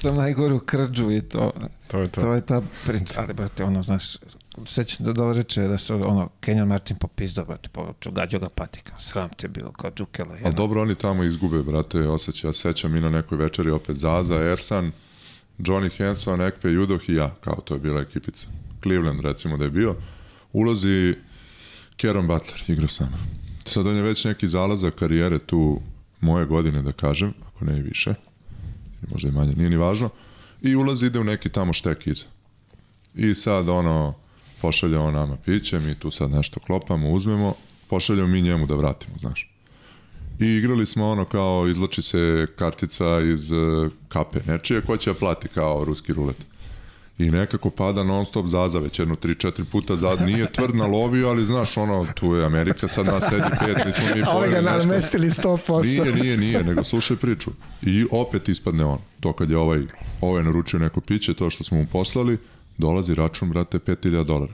sam najgoru krđu i to. To je ta priča. Ali, brate, ono, znaš, sećam da reče da su, ono, Kenyon Martin popizdao, brate, gađao ga patika. Sram te bilo, kao džukela. Ali dobro, oni tamo izgube, brate, osjeća. Ja sećam i na nekoj večeri opet Zaza, Ersan, Johnny Hanson, Ekpe, Judoh i ja, kao to je bila ekipica. Cleveland, recimo da je bio. Ulazi Caron Butler, igrao sam. Sad on je već neki zalazak karijere tu moje godine, da kažem, ako ne i više, možda i manje, nije ni važno, i ulazi, ide u neki tamo štek iza. I sad ono, pošalje on nama piće, mi tu sad nešto klopamo, uzmemo, pošaljemo mi njemu da vratimo, znaš. I igrali smo ono kao, izlači se kartica iz kape nečije, ko će da plati kao ruski rulet. I nekako pada non stop Zaza, već jedno 3-4 puta zad, nije tvrd nalovio, ali znaš ono, tu je Amerika, sad nas sedi 5, nismo mi pojeli nešto. A ga namestili 100%. Nije, nego slušaj priču. I opet ispadne on, to kad je ovaj naručio neko piće, to što smo mu poslali, dolazi račun, brate, $5.000.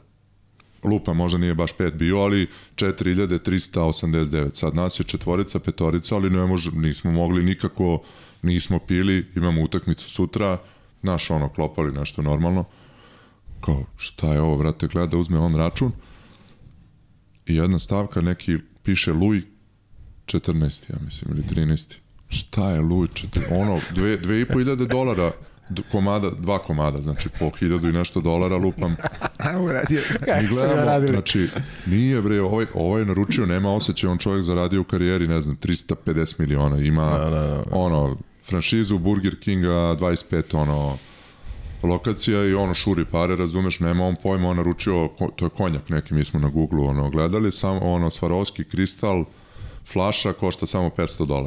Lupa, možda nije baš 5 bio, ali 4.389. Sad nas je 4, 5, ali nismo mogli nikako, nismo pili, imamo utakmicu sutra, naš ono, klopali nešto normalno. Kao, šta je ovo, brate, gleda, uzme on račun i jedna stavka, neki piše Louis 14, ja mislim, ili 13. Šta je Louis 14? Ono, $2.500 komada, 2 komada, znači po 1000 i nešto dolara lupam. Uradio, kako su ga radili? Znači, nije bre, ovaj naručio, nema osjećaj, on čovjek zaradio u karijeri, ne znam, 350 miliona, ima ono, franšizu Burger Kinga, 25 ono, lokacija i ono šuri pare, razumeš, nema on pojma, on naručio, to je konjak neki, mi smo na Google-u ono, gledali, samo ono, Swarovski kristal, flaša košta samo $500.